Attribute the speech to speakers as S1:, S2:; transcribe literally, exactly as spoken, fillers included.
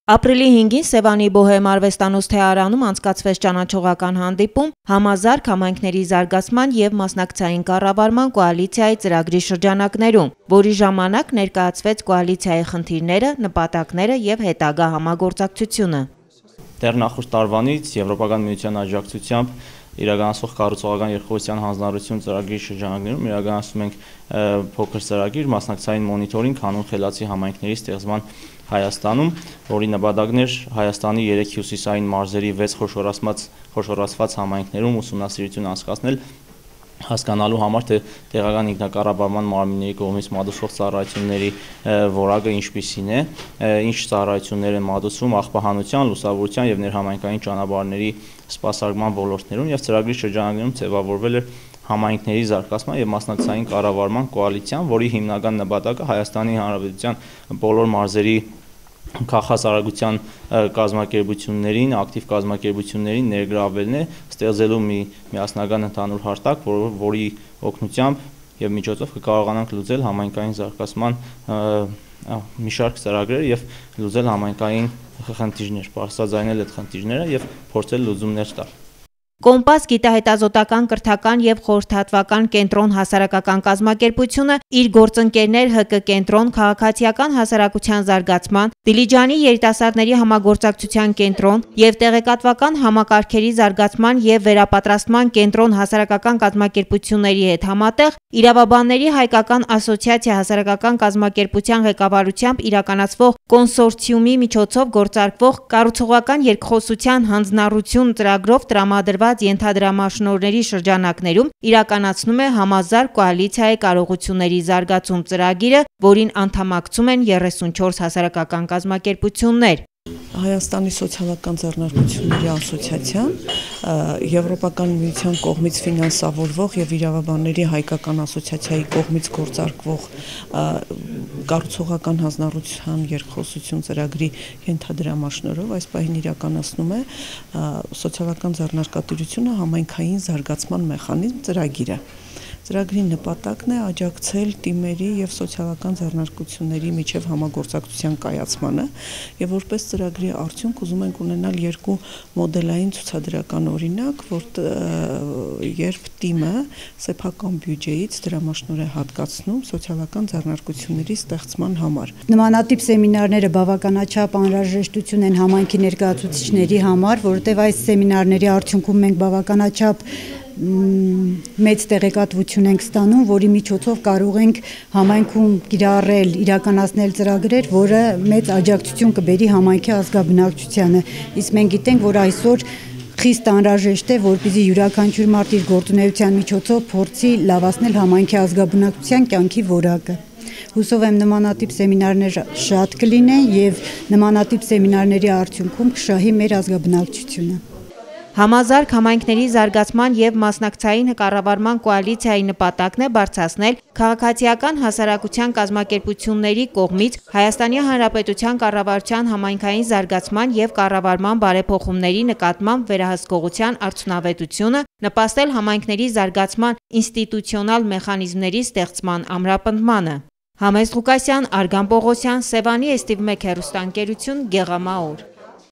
S1: Ապրիլի հինգին Սևանի Բոհեմ արվեստանոց թեարանում անցկացվեց ճանաչողական հանդիպում համազարգ համայնքների զարգացման և մասնակցային կառավարման կոալիցիայի ծրագրի շրջանակներում, որի ժամանակ ներկայացվեց կոալիցիայի խնդիրները, նպատակները և հետագա համագործակցությունը։
S2: Դեռ նախորդ տարվանից Եվրոպական միության աջակցությամբ իրականացվող կառուցողական երկխոսության հանձնառություն ծրագրի շրջանակներում իրականացնում ենք փոքր ծրագիր մասնակցային մոնիթորինգ հանուն խելացի համայնքների ստեղծման Հայաստանում, որի նպատակն էր Հայաստանի երեք հյուսիսային մարզերի վեց խոշորացված համայնքներում ուսումնասիրություն անցկացնել, հասկանալու համար, թե տեղական ինքնակառավարման մարմինների կողմից մատուցվող ծառայությունների որակը ինչպիսին է, ինչ ծառայություններ են մատուցվում աղբահանության, լուսավորության և ներհամայնքային ճանապարհների սպասարկման ոլորտներում, և ծրագրի շրջանակներում ձևավորվել էր համայնքների զարգացման և մասնակցային կառավարման կոալիցիան, որի հիմնական նպատակը Հայաստանի Հանրապետության բոլոր մարզերի քաղաքասարագության կազմակերպություններին, ակտիվ կազմակերպություններին ներգրավելն է, ստեղծելու մի միասնական ընդհանուր հարթակ, որի օգնությամբ և միջոցով կկարողանանք լուծել համայնքային զարգացման մի շարք ծրագրեր և լուծել համայնքային խնդիրներ, բարձրաձայնել այդ խնդիրները և փորձել լուծումներ տալ։
S1: Կոմպաս գիտահետազոտական կրթական և խորհրդատվական կենտրոն հասարակական կազմակերպությունը իր գործընկերներ ՀԿ կենտրոն քաղաքացիական հասարակության զարգացման, Դիլիջանի երիտասարդների համագործակցության կենտրոն և տեղեկատվական համակարգերի զարգացման և վերապատրաստման կենտրոն հասարակական կազմակերպությունների հետ համատեղ Իրավաբանների հայկական ասոցիացիա հասարակական կազմակերպության ղեկավարությամբ իրականացվող կոնսորցիումի միջոցով գործարկվող կառուցողական երկխոսության հանձնառություն ծրագրով տրամադրված ենթադրամաշնորհների շրջանակներում իրականացնում է համազարգ կոալիցիայի կարողությունների զարգացում ծրագիրը, որին անդամակցում են երեսունչորս հասարակական կազմակերպություններ։
S3: Հայաստանի սոցիալական ձեռնարկությունների ասոցիացիան Եվրոպական միության կողմից ֆինանսավորվող և Իրավաբանների հայկական ասոցիացիայի կողմից գործարկվող կառուցողական հանձնառության երկխոսություն ծրագրի ենթադրամաշնորհով այս պահին իրականացնում է սոցիալական ձեռնարկատիրությունը համայնքային զարգացման մեխանիզմ ծրագիրը։ Ծրագրի նպատակն է աջակցել թիմերի և սոցիալական ձեռնարկությունների միջև համագործակցության կայացմանը և որպես ծրագրի արդյունք ուզում ենք ունենալ երկու մոդելային ցուցադրական օրինակ, երբ թիմը սեփական բյուջեից դրամաշնորհ է հատկացնում սոցիալական ձեռնարկությունների ստեղծման համար։
S4: Նմանատիպ սեմինարները բավականաչափ անհրաժեշտություն են համայնքի ներկայացուցիչների համար, որովհետև այս սեմինարների արդյունքում մենք բավականաչափ մեծ տեղեկատվություն ենք ստանում, որի միջոցով կարող ենք համայնքում կիրառել, իրականացնել ծրագրեր, որը մեծ աջակցություն կբերի համայնքի ազգաբնակչությանը։ Իսկ մենք գիտենք, որ այսօր խիստ անհրաժեշտ է, որպեսզի յուրաքանչյուր մարդ իր գործունեության միջոցով փորձի լավացնել համայնքի ազգաբնակչության կյանքի որակը։ Հուսով եմ նմանատիպ սեմինարներ շատ կլինեն և նմանատիպ սեմինարների արդյունքում կշահի մեր ազգաբնակչությունը։
S1: Համազարգ համայնքների զարգացման և մասնակցային կառավարման կոալիցիայի նպատակն է բարձրացնել քաղաքացիական հասարակության կազմակերպությունների կողմից Հայաստանի Հանրապետության կառավարության համայնքային զարգացման և կառավարման բարեփոխումների նկատմամբ վերահսկողության արդյունավետությունը, նպաստել համայնքների զարգացման ինստիտուցիոնալ մեխանիզմների ստեղծման ամրապնդմանը։ Համեստ Ղուկասյան, Արգամ Պողոսյան, Սևանի Էս Թի վի մեկ հեռուստաընկերություն, Գեղամաուր։